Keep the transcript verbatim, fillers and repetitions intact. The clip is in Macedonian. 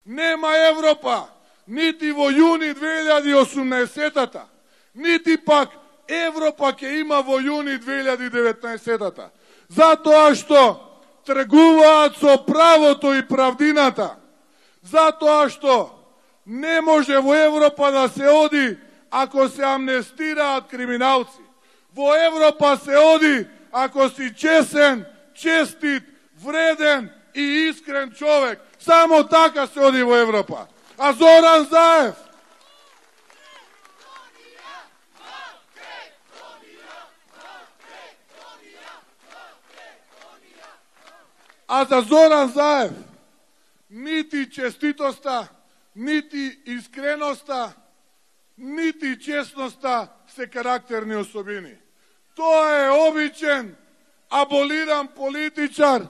Нема Европа, нити во јуни две илјади и осумнаесетата, нити пак Европа ќе има во јуни две илјади и деветнаесетата. Затоа што тргуваат со правото и правдината. Затоа што не може во Европа да се оди ако се амнестираат криминалци. Во Европа се оди ако си чесен, честит, вреден и искрен човек. Само така се оди во Европа. А Зоран Заев А за Зоран Заев нити честитоста, нити искреноста, нити честноста се карактерни особини. Тоа е обичен, аболиран политичар